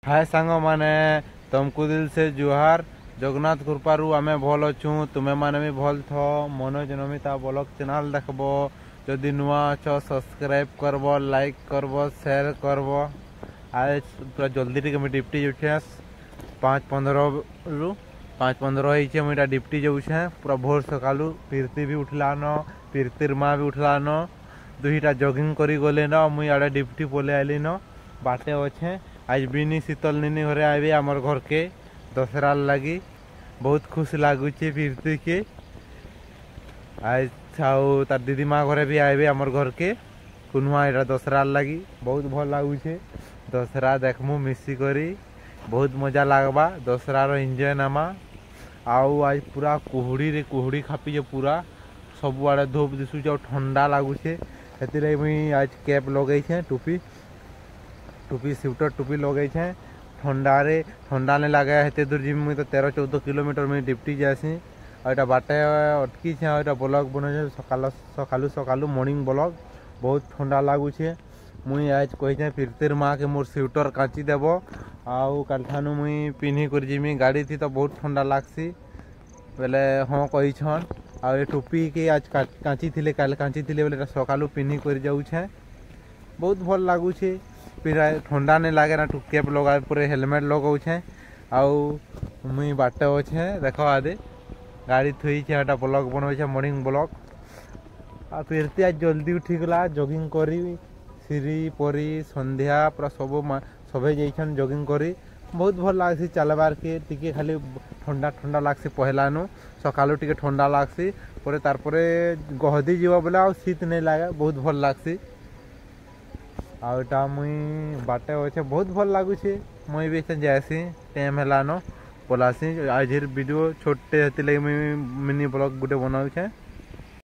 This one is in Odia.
ହାଏ ସାଙ୍ଗମାନେ, ତମକୁ ଦିଲ ସେ ଜୁହାର। ଜଗନ୍ନାଥ କୃପାରୁ ଆମେ ଭଲ ଅଛୁ, ତୁମେ ମାନେ ବି ଭଲ ଥ। ମନୋଜ ନମିତା ବ୍ଲଗ ଚ୍ୟାନେଲ ଦେଖବ। ଯଦି ନୂଆ ଅଛ, ସବସ୍କ୍ରାଇବ କରବ, ଲାଇକ୍ କରବ, ସେୟାର କରବ। ଆଜ ପୁରା ଜଲ୍ଦି ଟିକେ ମୁଇଁ ଡ୍ୟୁଟି ଯାଉଛେ। 5:15ରୁ, 5:15 ହେଇଛେ, ମୁଇଁ ଏଇଟା ଡ୍ୟୁଟି ଯାଉଛେ ପୁରା ଭୋର ସକାଳୁ। ପ୍ରୀତି ବି ଉଠଲାନ, ପ୍ରୀତିର ମା ବି ଉଠଲାନ, ଦୁଇଟା ଜଗିଂ କରି ଗଲେନ। ମୁଇଁ ଆଡ଼େ ଡ୍ୟୁଟି ପଲେଇ ଆଇଲିନ, ବାଟେ ଅଛେ। ଆଜ ବିନି ଶୀତଲ ନିନି ଘରେ ଆଇବେ ଆମର ଘରକେ ଦଶହରାର ଲାଗି। ବହୁତ ଖୁସି ଲାଗୁଛେ ପ୍ରୀତିକେ ଆଜ। ଆଉ ତାର ଦିଦି ମା ଘରେ ବି ଆଇବେ ଆମର ଘରକେ କୁନୁଆ, ଏଇଟା ଦଶହରାର ଲାଗି। ବହୁତ ଭଲ ଲାଗୁଛେ। ଦଶହରା ଦେଖମୁ ମିଶିକରି, ବହୁତ ମଜା ଲାଗ୍ବା। ଦଶହରାର ଏନ୍ଜୟ ନେମା। ଆଉ ଆଜ ପୁରା କୁହୁଡ଼ିରେ କୁହୁଡ଼ି ଖାପିଛେ, ପୁରା ସବୁଆଡ଼େ ଧୂପ ଦିଶୁଛେ ଆଉ ଥଣ୍ଡା ଲାଗୁଛେ। ସେଥିଲାଗି ମୁଇଁ ଆଜ କ୍ୟାପ୍ ଲଗେଇଛେ, ଟୁପି ଟୁପି ସ୍ୱେଟର ଟୁପି ଲଗେଇଛେ। ଥଣ୍ଡାରେ ଥଣ୍ଡା ନାଇଁ ଲାଗେ। ହେତେ ଦୂର ଯିମି ମୁଇଁ ତ, 13-14 କିଲୋମିଟର ମୁଇଁ ଡ୍ୟୁଟି ଯାଏସି। ଆଉ ଏଇଟା ବାଟେ ଅଟକିଛେ ଆଉ ଏଇଟା ବ୍ଲଗ ବନଉଛେ ସକାଳ ସକାଳୁ ସକାଳୁ, ମର୍ଣ୍ଣିଂ ବ୍ଲଗ। ବହୁତ ଥଣ୍ଡା ଲାଗୁଛେ। ମୁଇଁ ଆଜ କହିଛେ ପ୍ରୀତିର ମାକେ, ମୋର୍ ସ୍ୱେଟର କାଚି ଦେବ, ଆଉ କାଲିଠାନୁ ମୁଇଁ ପିନ୍ଧି କରି ଯିମି। ଗାଡ଼ି ଥି ତ ବହୁତ ଥଣ୍ଡା ଲାଗ୍ସି ବେଲେ ହଁ କହିଛନ୍। ଆଉ ଏ ଟୋପିକେ ଆଜ କାଚିଥିଲେ, କାଲି କାଚିଥିଲେ ବେଲେ ଏଟା ସକାଳୁ ପିନ୍ଧି କରି ଯାଉଛେ। ବହୁତ ଭଲ ଲାଗୁଛେ, ଥଣ୍ଡା ନାଇଁ ଲାଗେ ନା। କ୍ୟାପ୍ ଲଗା ପରେ ହେଲମେଟ୍ ଲଗଉଛେ। ଆଉ ମୁଇଁ ବାଟେ ଅଛେ, ଦେଖ ଆଦେ ଗାଡ଼ି ଥୋଇଛେ, ଏଟା ବ୍ଲଗ ବନଉଛେ, ମର୍ଣ୍ଣିଂ ବ୍ଲଗ। ଆଉ ପ୍ରୀତି ଆଜ ଜଲ୍ଦି ଉଠିଗଲା ଜଗିଂ କରି। ସିରି, ପରି, ସନ୍ଧ୍ୟା ପୁରା ସବୁ ସଭେ ଯାଇଛନ୍ ଜଗିଂ କରି। ବହୁତ ଭଲ ଲାଗ୍ସି ଚାଲବାର୍କେ। ଟିକେ ଖାଲି ଥଣ୍ଡା ଥଣ୍ଡା ଲାଗ୍ସି ପହେଲାନୁ, ସକାଳୁ ଟିକେ ଥଣ୍ଡା ଲାଗ୍ସି, ପରେ ତାରପରେ ଗହଦି ଯିବ ବେଲେ ଆଉ ଶୀତ ନାଇଁ ଲାଗେ, ବହୁତ ଭଲ ଲାଗ୍ସି। ଆଉ ଏଟା ମୁଇଁ ବାଟେ ଅଛେ, ବହୁତ ଭଲ ଲାଗୁଛେ। ମୁଇଁ ବି ଏଛେନ୍ ଯାଏସି, ଟାଇମ୍ ହେଲାନ, ପଲାସି। ଆଜିର ଭିଡ଼ିଓ ଛୋଟଟେ, ହେଥିଲାଗି ମୁଇଁ ମିନି ବ୍ଲଗ ଗୋଟେ ବନାଉଛେ।